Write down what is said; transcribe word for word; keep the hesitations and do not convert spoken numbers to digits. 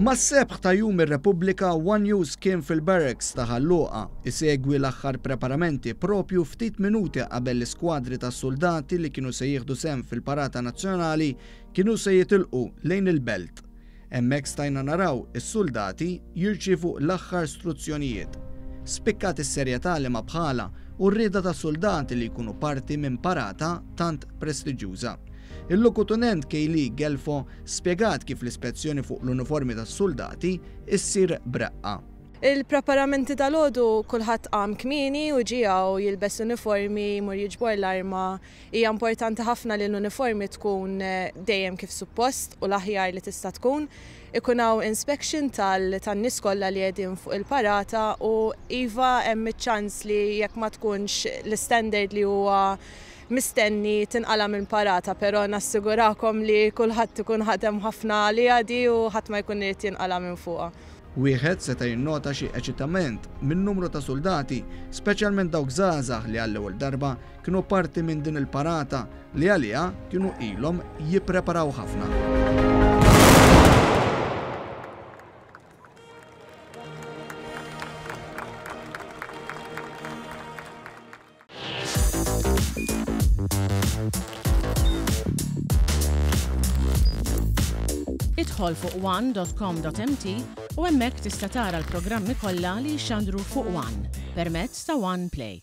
Mas-sebħ ta' Jum ir-Repubblika, One News kien fil-barracks ta' Ħal Luqa isegwi l-aħħar preparamenti propju ftit minuti qabel l-iskwadri ta' soldati li kienu se jieħdu sehem fil-parata nazzjonali kienu se jitilqu lejn il-belt. Hemmhekk stajna naraw is-soldati jirċievu l-aħħar struzzjonijiet. Spikkat is-serjetà li ma bħala u r-rieda ta' soldati li jkunu parti minn parata tant prestiġjuża. Il-lokotenent Kejli Gelfo spjegat kif l-ispezzjoni fuq l-uniformi tas-soldati issir b'reqqa. Il-preparamenti tal-għodu, kulħadd qam kmieni u ġie u jilbes uniformi, jmur jiġbor l-arma. Hija importanti ħafna li l-uniformi tkun eh, dejjem kif suppost u l-aħjar li tista' tkun. Ikun hawn inspection tal-nies kollha li qegħdin fuq il-parata u iva, hemm iċ-ċans li jekk ma tkunx l-standard li huwa mistenni tinqala minn parata, però nassigurakom li kulħadd ikun ħadem ħafna li għadi u ħadd ma jkun irid jinqala minn fuqha. Wieħed seta' jinnota xi eċitament minn numru ta' soldati, speċjalment dawk żgħażagħ li għall-ewwel darba kienu parti minn din il-parata li għaliha kienu ilhom jippreparaw ħafna. Idħol fuq one dot com dot M T u hemmhekk tista' tara l-programmi kollha li jxandru fuq One permezz ta' One Play.